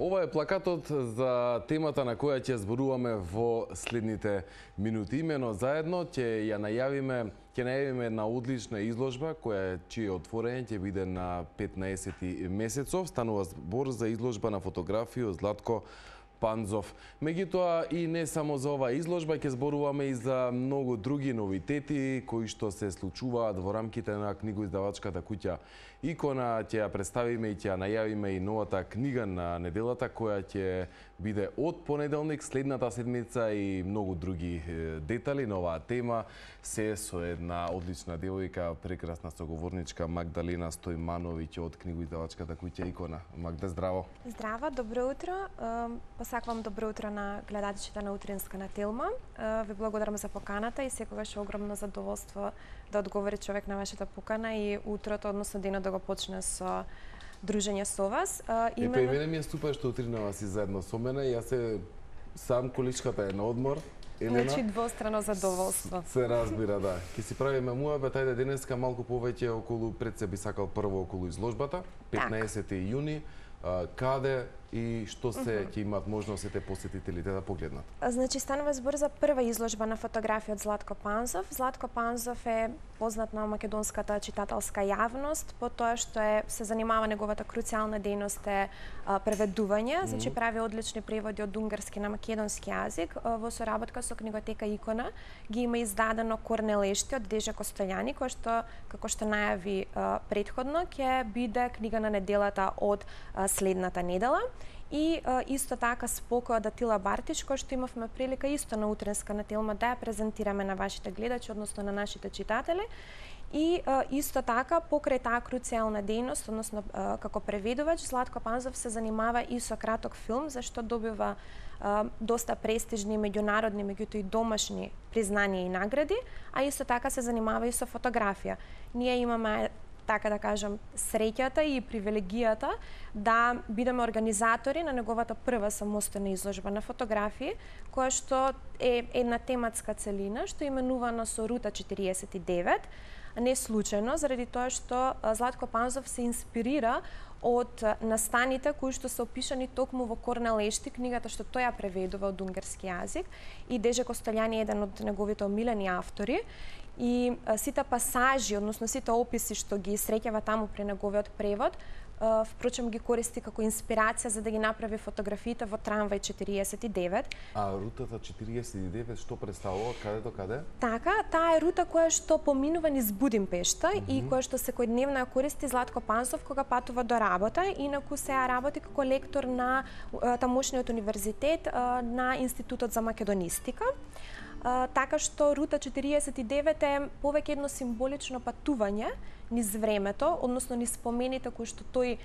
Ова е плакатот за темата на која ќе зборуваме во следните минути. Имено заедно ќе најавиме една одлична изложба чие отворање ќе биде на 15 месецов. Станува збор за изложба на фотографија од Златко Панзов. Меѓутоа и не само за оваа изложба, ќе зборуваме и за многу други новитети кои што се случуваат во рамките на книгоиздавачката куќа Икона. Ќе ја представиме и ќе ја најавиме и новата книга на неделата која ќе биде од понеделник следната седмица и многу други детали на оваа тема. Се со една одлична девојка, прекрасна соговорничка Магдалена Стојмановиќ од книгоиздавачката куќа Икона. Магда, здраво. Здраво, добро утро. Посакувам добро утро на гледачите на Утринска на Телма. Ви благодарам за поканата и секогаш огромно задоволство да одговори човек на вашата покана и утрото, односно денот да го почне со дружење со вас. И мене ми е супер што утринава си заедно со мене. Јас се сам количката е на одмор. Елена, значи двострано задоволство. Се разбира, да. Ќе си правиме муабет, ајде денеска малку повеќе околу, пред се би сакал прво околу изложбата, 15 јуни. Каде и што се ќе имаат можност сите посетителите да погледнат? Значи, станува збор за прва изложба на фотографија од Златко Панзов. Златко Панзов е познат на македонската читателска јавност по тоа што се занимава, неговата круцијална дејност е преведување, значи прави одлични преводи од унгарски на македонски јазик. Во соработка со книготека Икона ги има издадено Корнелешти од Дежа Костолјани, кој што, како што најави претходно, ќе биде книга на неделата од следната недела. И исто така спокојот Атила Бартич, кој што имавме прилика исто на Утринска на Телма да ја презентираме на вашите гледачи, односно на нашите читатели. И исто така, покрај таа круцијална дејност, односно како преведувач, Златко Панзов се занимава и со краток филм, зашто добива доста престижни меѓународни, меѓутоа и домашни признанија и награди, а исто така се занимава и со фотографија. Ние имаме, така да кажам, среќата и привилегијата да бидеме организатори на неговата прва самостојна изложба на фотографии, која што е една тематска целина, што е именувана со Рута 49, не случајно, заради тоа што Златко Панзов се инспирира од настаните кои што се опишани токму во Корнелешти, книгата што тој ја преведува од унгарски јазик, и Дежа Костолјани е еден од неговите омилени автори. И сите пасажи, односно сите описи што ги среќава таму при неговиот превод, впрочем ги користи како инспирација за да ги направи фотографиите во Трамвај 49. А рутата 49 што представува, каде до каде? Така, таа е рута која што поминува низ Будимпешта и која што секојдневно ја користи Златко Панзов кога патува до работа, инаку сега работи како лектор на тамошниот универзитет на Институтот за македонистика. Така што Рута 49 е повеќе едно символично патување низ времето, односно низ спомените кои што тој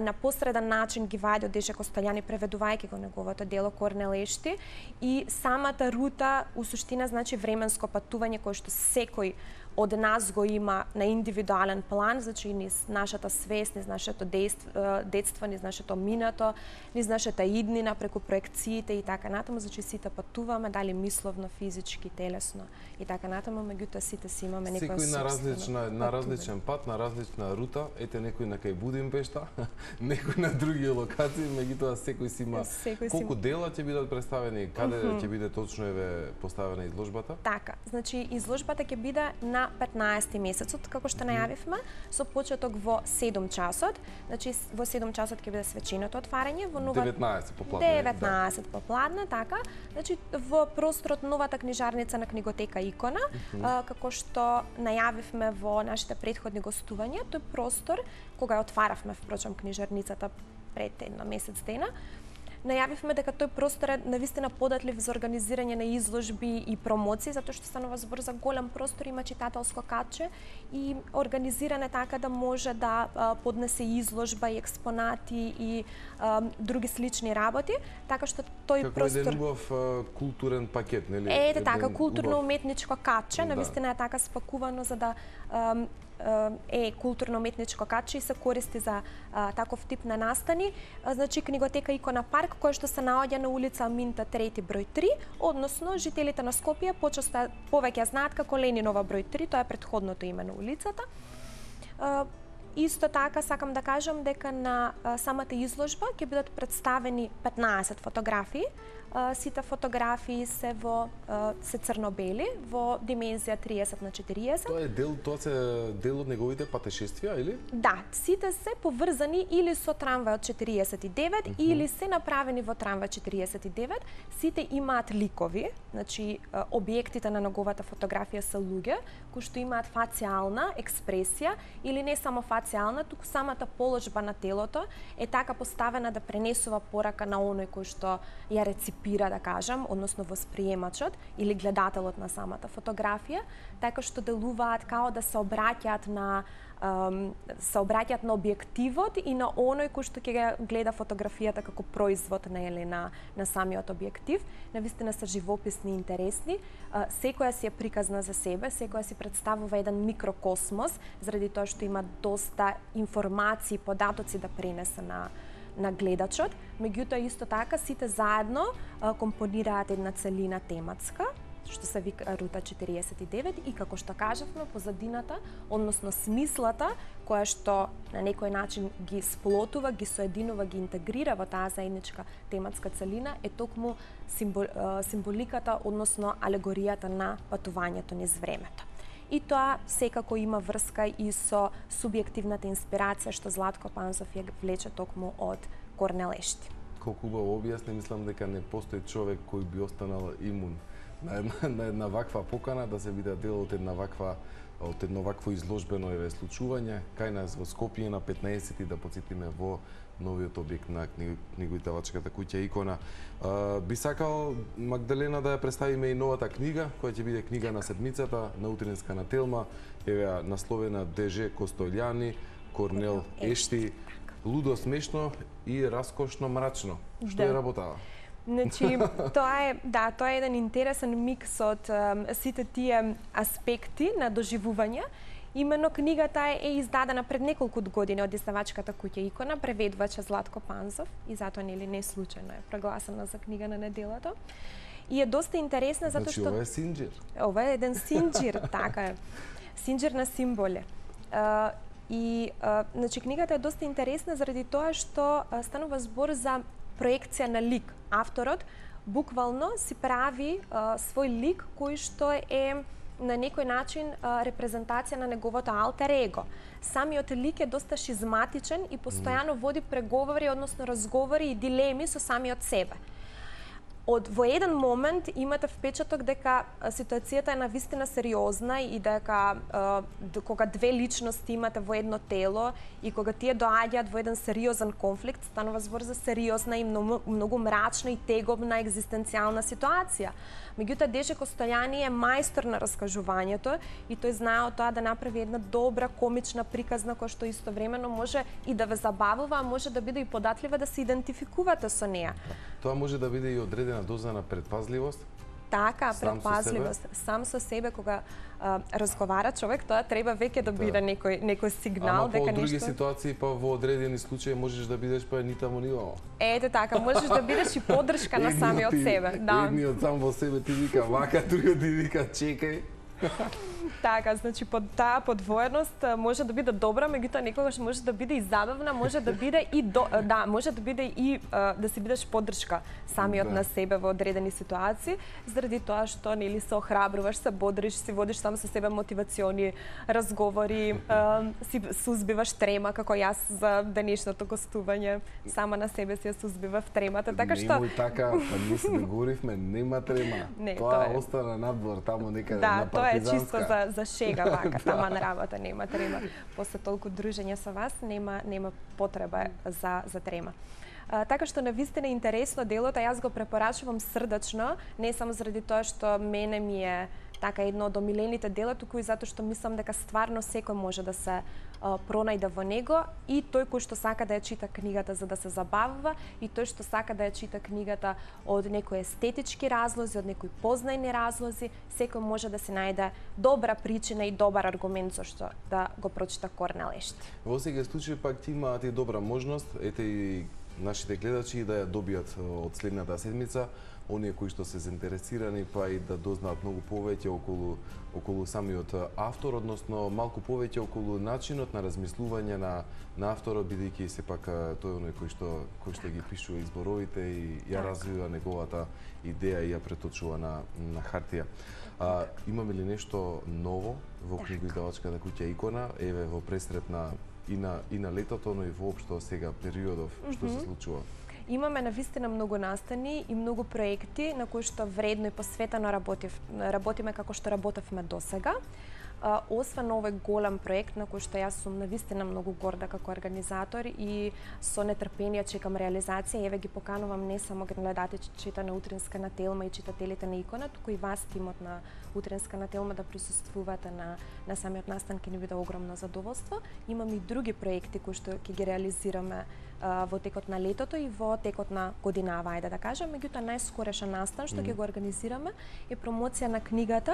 на посреден начин ги вади од Дежа Костолјани, преведувајќи го неговото дело Корнелешти, и самата рута у суштина значи временско патување кое што секој од нас го има на индивидуален план, значи низ нашата свест, низ нашето детство, низ нашето минато, низ нашата иднина, преку проекциите и така натаму, значи сите патуваме, дали мисловно, физички, телесно и така натаму, меѓутоа сите си имаме некоја секој на различен пат, на различна рута, ете некој на кај Будимпешта, некој на други локации, меѓутоа секој си има. Колку дела ќе бидат представени, каде ќе биде точно поставена изложбата? Така, значи изложбата ќе биде на 15 месецот, како што најавивме, со почеток во 7 часот. Значи во 7 часот ќе биде свеченото отварање во нова 19 попладне. 19 попладне, така. Значи во просторот новата книжарница на книготека Икона, како што најавивме во нашите претходни гостувања, тој простор кога ја отваравме впрочем книжарницата пред една месец дена, најавивме дека тој простор е навистина податлив за организирање на изложби и промоции, затоа што станува збор за голем простор, има читателско катче и организиране така да може да поднесе изложба и експонати и други слични работи, така што тој простор како еден убав културен пакет, нели? Ете така, културно-уметничко катче, навистина е така спакувано за да е културно-уметничко катче и се користи за таков тип на настани. Значи книготека Икона парк, која што се наоѓа на улица Аминта 3 број 3, односно жителите на Скопје почесто повеќе знаат како Ленинова број 3, тоа е претходното име на улицата. Исто така сакам да кажам дека на самата изложба ќе бидат представени 15 фотографии. Сите фотографии се се црно-бели во димензија 30x40. Тоа се дел од неговите патешествија или? Да, сите се поврзани или со трамвајот 49 или се направени во трамвај 49. Сите имаат ликови, значи објектите на неговата фотографија се луѓе кои што имаат фацијална експресија или не само фацијална, туку самата положба на телото е така поставена да пренесува порака на оној кој што ја реципира, да кажам, односно восприемачот или гледателот на самата фотографија, така што делуваат као да се обраќаат на објективот и на оној кој што ќе го гледа фотографијата како производ на самиот објектив. Навистина се живописни и интересни. Секоја си е приказна за себе, секоја си представува еден микрокосмос, заради тоа што има доста информации, податоци да пренесе на гледачот. Меѓутоа, исто така, сите заедно компонираат една целина тематска, што се вика Рута 49 и како што кажавме, позадината, односно смислата, која што на некој начин ги сплотува, ги соединува, ги интегрира во таа заедничка тематска целина, е токму символиката, односно алегоријата на патувањето низ времето. И тоа секако има врска и со субјективната инспирација што Златко Панзов ја влече токму од Корнелешти. Колку убаво објасни, мислам дека не постои човек кој би останал имун на една ваква покана да се биде дел од едно вакво изложбено случување кај нас во Скопје на 15 да потсетиме во новиот објект на книгоиздавачката куќа Икона. Би сакал Магдалена да ја представиме и новата книга, која ќе биде книга на седмицата, на утринска на Телма, еве насловена ДЖ Костолјани, Корнел Ешти, лудо смешно и раскошно мрачно. Што е работава? Значи, тоа е еден интересен микс од сите тие аспекти на доживување. Имено книгата е издадена пред неколку години од издавачката куќа Икона, преведувач Златко Панзов и затоа не случајно е прогласена за книга на неделата. И е доста интересна затоа што ова е синџир. Ова е еден синџир, така е. Синџир на символи. Значи книгата е доста интересна заради тоа што станува збор за проекција на лик. Авторот буквално си прави свој лик кој што е на некој начин репрезентација на неговото алтер его. Самиот лик е доста шизматичен и постојано води преговори, односно разговори и дилеми со самиот себе. Во еден момент имате впечаток дека ситуацијата е навистина сериозна и дека кога две личности имате во едно тело и кога тие доаѓаат во еден сериозен конфликт, станува збор за сериозна и многу мрачна и тегобна екзистенцијална ситуација. Меѓутоа, ДЖ Костолјани е мајстор на раскажувањето и тој знае тоа да направи една добра комична приказна која што истовремено може и да ве забавува, а може да биде и податлива да се идентификувате со неа. Тоа може да биде и одредена доза на предпазливост. Така, предпазливост. Сам со себе кога разговара човек, тоа треба веќе да биде некој сигнал дека нешто. Ама по други ситуации, па во одредени случаи можеш да бидеш па ни таму ни оваа. Ете така, можеш да бидеш и поддршка на самиот себе. Да. Едниот сам во себе ти вика вака, другиот ти вика чекај. Така, значи таа подвоеност може да биде добра, меѓутоа некогаш може да биде и забавна, може да биде и може да биде и да си бидеш поддршка самиот на себе во одредени ситуации, заради тоа што нели се охрабруваш, се бодриш, си водиш сам со себе мотивациони разговори, си сузбиваш трема како јас за денешното гостување, сама на себе си ја сузбивав тремата, така што Немој така, па ние се договоривме, нема трема. Тоа остана надвор таму некаде на партизанска. Тоа е чисто за шега вака, тама на работа нема трема. После толку дружење со вас нема потреба за трема. Така што навистина интересно делото, јас го препорачувам срдачно, не само заради тоа што мене ми е така едно од омилените дела, туку и затоа што мислам дека стварно секој може да се пронајде во него, и тој кој што сака да ја чита книгата за да се забавува, и тој што сака да ја чита книгата од некои естетички разлози, од некои познајни разлози, секој може да се најде добра причина и добар аргумент зашто да го прочита Корнел Ешти. Во секој случај пак ти имаат и добра можност, ете и нашите гледачи да ја добијат од следната седмица, оние кои што се заинтересирани, па и да дознаат многу повеќе околу самиот автор, односно малку повеќе околу начинот на размислување на авторот, бидејќи сепак тој е оној кој што ги пишува изборовите и ја развива неговата идеја и ја преточува на хартија. Имаме ли нешто ново во книгоиздавачката куќа Икона, еве во пресрет и на летото, но и воопшто сега периодов, што се случува? Имаме навистина многу настани и многу проекти на кои што вредно и посветено работиме како што работевме досега. Освен овој голем проект на кој што јас сум навистина многу горда како организатор и со нетрпение чекам реализација, еве ги поканувам не само гледачите на Утринска на Телма и читателите на Икона, туку и вас, тимот на Утринска на Телма, да присуствувате на самиот настан, ќе ни биде огромно задоволство. Имам и други проекти кои што ќе ги реализираме во текот на летото и во текот на годинава, ајде да кажам. Меѓутоа, најскорешен настан што ќе го организираме е промоција на книгата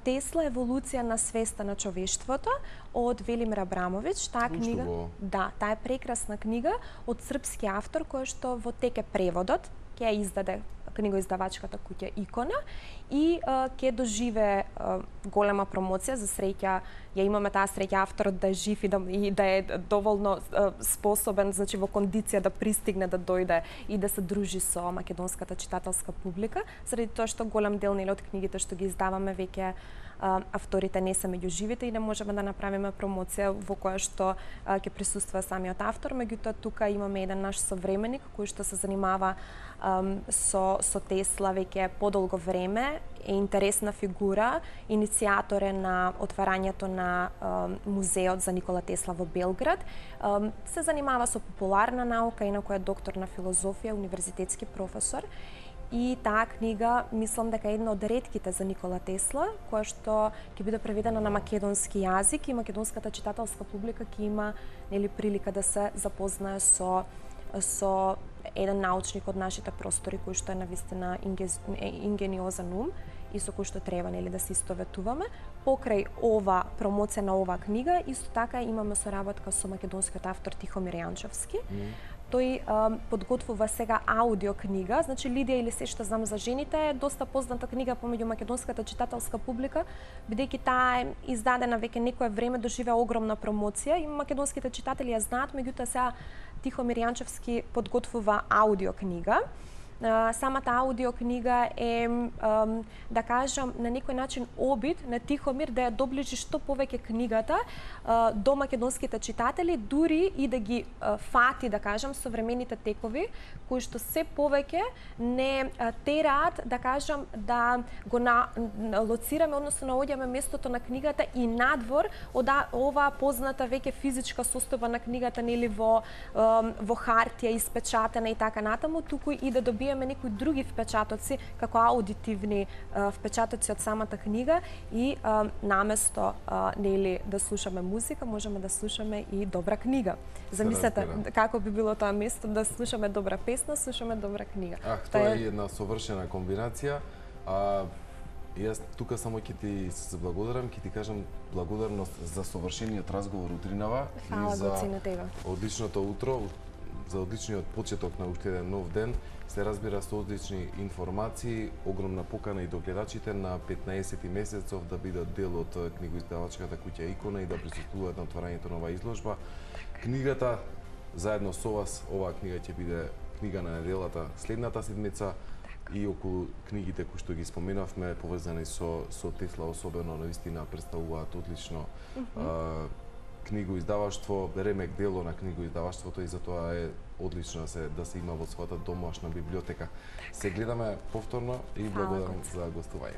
Тесла, еволуција на свеста на човештвото од Велимир Абрамовиќ. Таа книга, таа е прекрасна книга од српски автор кој што во тек е преводот, ќе ја издаде книгоиздавачката куќа Икона и ќе доживе голема промоција. За среќа ја имаме таа среќа авторот да е жив и да е доволно способен, значи во кондиција да пристигне, да дојде и да се дружи со македонската читателска публика, заради тоа што голем дел од книгите што ги издаваме веќе авторите не се меѓу живите и не можеме да направиме промоција во која што ќе присуства самиот автор. Меѓутоа, тука имаме еден наш современик кој што се занимава со Тесла веќе подолго време, е интересна фигура, иницијатор е на отварањето на музеот за Никола Тесла во Белград. Се занимава со популарна наука, инаку е доктор на филозофија, универзитетски професор. И таа книга, мислам дека е една од ретките за Никола Тесла, која што ќе биде преведена на македонски јазик и македонската читателска публика ќе има прилика да се запознае со еден научник од нашите простори кој што е навистина ингениозен ум и со кој што треба да се истоветуваме. Покрај ова промоција на оваа книга, исто така имаме соработка со македонскиот автор Тихомир Јанчовски. Тој подготвува сега аудио книга, значи Лидија или се што знам за жените е доста позната книга помеѓу македонската читателска публика, бидејќи таа е издадена веќе некое време, доживеа огромна промоција и македонските читатели ја знаат, меѓутоа сега Тихомир Јанчевски подготвува аудио книга. Самата аудио книга е, да кажам, на некој начин обид на Тихомир да ја доближи што повеќе книгата до македонските читатели, дури и да ги фати, да кажам, современите текови, кои што се повеќе не тераат, да кажам, да го лоцираме, односно наоѓаме местото на книгата и надвор од оваа позната веќе физичка состојба на книгата, нели во хартија, испечатена и така натаму, туку и да добиеме некои други впечатоци, како аудитивни впечатоци од самата книга и наместо нели да слушаме музика, можеме да слушаме и добра книга. Замислете како би било тоа место да слушаме добра песна, слушаме добра книга. Тоа е една совршена комбинација. Јас тука само ќе ти се благодарам, ќе ти кажам благодарност за совршениот разговор утринава и за одличното утро, за одличниот почеток на уште еден нов ден. Се разбира со одлични информации, огромна покана и до гледачите на 15 месецов да бидат дел од книгоиздавачката куќа Икона и да присуствуваат на отварањето на оваа изложба. Книгата заедно со вас, оваа книга ќе биде книга на неделата следната седмица и околу книгите кои што ги споменавме поврзани со Тесла особено навистина представуваат одлично книгоиздаваштво, ремек дело на книгоиздаваштвото и затоа е одлично да се има во својата домашна библиотека. Се гледаме повторно и благодарам за гостување.